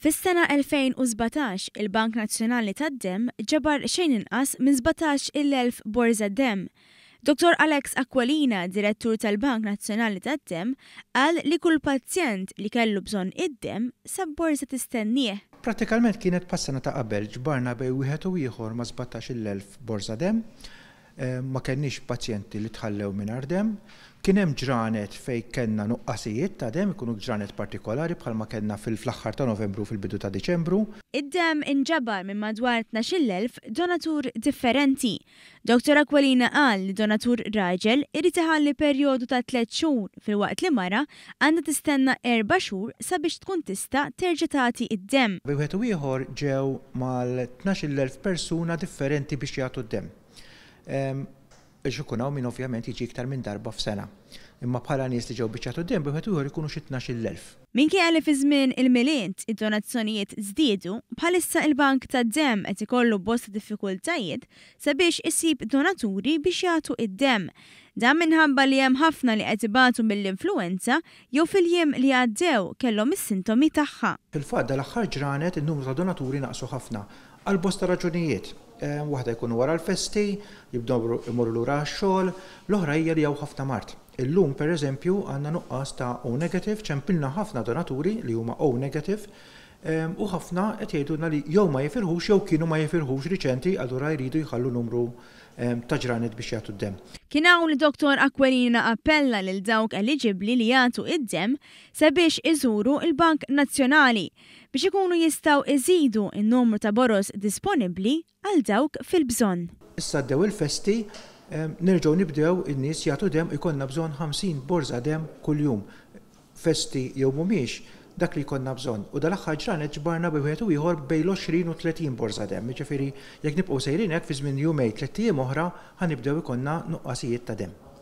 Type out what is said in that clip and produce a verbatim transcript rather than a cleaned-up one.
Fis-sena elfejn u sbatax, il-Bank Nazzjonali tad-Demm ġabar xejn inqas minn sbatax-il elf borża demm. Dottor Alex Aquilina, direttur tal-Bank Nazzjonali tad-Demm, qal li kull pazjent li kellu bżonn id-demm sab borża tistennieh. Prattikament kienet pas-sena ta' qabel, ġbarna bejn wieħed u ieħor ma' sbatax-il elf borża demm. Eh, ma kenniex pazjenti li tħallew mingħajr demm. Kien hemm ġranet fejn kellna nuqqasijiet ta' demm, ikunu ġranet partikolari bħalma kellna fil-aħħar ta' Novembru fil-bidu ta' Diċembru. Id-demm inġabar minn madwar tnax-il elf donatur differenti. Dottor Aquilina qal li donatur raġel irid iħalli perjodu ta' tliet xhur filwaqt li mara għandha tistenna erba' xhur sabiex tkun tista' terġa' tagħti id-demm. Bejn wieħed u ieħor ġew mal-tnax-il elf persuna differenti biex jagħtu d-demm. Ehm, biex ikun hawn min ovvjament jiġi iktar minn darba f'sena. Imma bħala nies li ġew biex jagħtu d-demm, bejn wieħed u ieħor ikunu xi tnax-il elf. Minkejja li fi żmien il-Milied id-donazzjonijiet żdiedu, bħalissa il-Bank tad-Demm qed ikollu bosta diffikultajiet sabiex isib donaturi biex jagħtu id-demm. Dan minħabba li hemm ħafna li qed ibatu mill-influenza jew fil-jiem li għaddew kellhom is-sintomi tagħha. Fil-fatt dal-aħħar ġranet in-numru ta' donaturi naqsu ħafna għal bosta raġunijiet. Eh, waħda jkunu wara l-festi, jibdew imorru lura għax-xogħol, l-oħra hija li hawn ħafna mard. Illum pereżempju għandna nuqqas ta' O negative, ċempilna ħafna donaturi li huma O negative, ehm, u ħafna qed jgħidulna li jew ma jifirħux jew kienu ma jifirħux riċenti, allura jridu jħallu numru, ehm, ta' ġranet biex jagħtu d-demm. Kien hawn li Dottor Aquilina appella lil dawk eliġibbli li jagħtu id-demm sabiex iżuru il-Bank Nazzjonali biex ikunu jistgħu iżidu n-numru ta' boroż disponibbli għal dawk fil-bżonn. Issa għaddew il-festi, ehm, nerġgħu nibdew in-nies jagħtu demm, ikollna bżonn ħamsin borża demm kuljum. Festi jew mhumiex, dak li jkollna bżonn. U dal-aħħar ġranet ġbarna bejn wieħed u ieħor bejn l-għoxrin u tletin borża demm. Jiġifieri jekk nibqgħu sejrin hekk fi żmien jumejn tliet ijiem oħra ħa nibdew ikollna nuqqasijiet ta' demm.